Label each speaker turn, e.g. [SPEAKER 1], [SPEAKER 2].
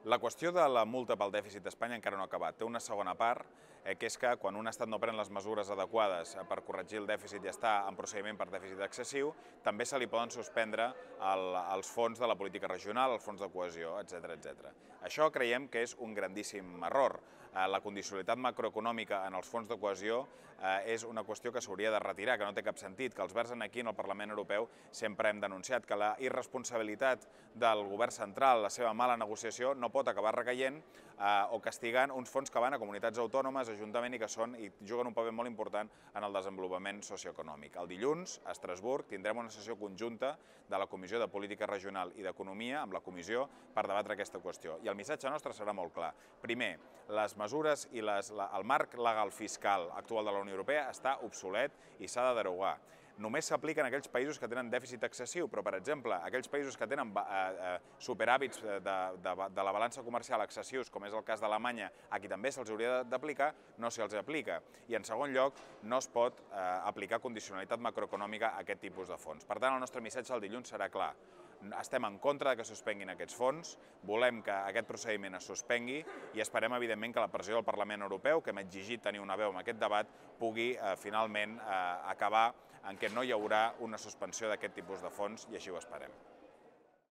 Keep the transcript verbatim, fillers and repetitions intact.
[SPEAKER 1] La qüestió de la multa pel dèficit d'Espanya encara no ha acabat. Té una segona part, eh, que és que quan un estat no pren les mesures adequades per corregir el dèficit i està en procediment per dèficit excessiu, també se li poden suspendre el, els fons de la política regional, els fons de cohesió, etcètera, etcètera. Això creiem que és un grandíssim error. Eh, la condicionalitat macroeconòmica en els fons de cohesió eh, és una qüestió que s'hauria de retirar, que no té cap sentit, que els Verds aquí en el Parlament Europeu sempre hem denunciat que la irresponsabilitat del govern central, la seva mala negociació, no pot acabar recaient eh, o castigant uns fons que van a comunitats autònomes, ajuntament i que són i juguen un paper molt important en el desenvolupament socioeconòmic. El dilluns, a Estrasburg, tindrem una sessió conjunta de la Comissió de Política Regional i d'Economia amb la Comissió per debatre aquesta qüestió. I el missatge nostre serà molt clar. Primer, les mesures i les, la, el marc legal fiscal actual de la Unió Europea està obsolet i s'ha de derogar. Només s'apliquen a aquells països que tenen dèficit excessiu, però, per exemple, aquells països que tenen eh, superàvits de, de, de la balança comercial excessius, com és el cas d'Alemanya, a qui també se'ls hauria d'aplicar, no se'ls aplica. I, en segon lloc, no es pot eh, aplicar condicionalitat macroeconòmica a aquest tipus de fons. Per tant, el nostre missatge el dilluns serà clar. Estem en contra que suspenguin aquests fons, volem que aquest procediment es suspengui i esperem, evidentment, que la pressió del Parlament Europeu, que hem exigit tenir una veu en aquest debat, pugui eh, finalment eh, acabar en què no hi haurà una suspensió d'aquest tipus de fons i així ho esperem.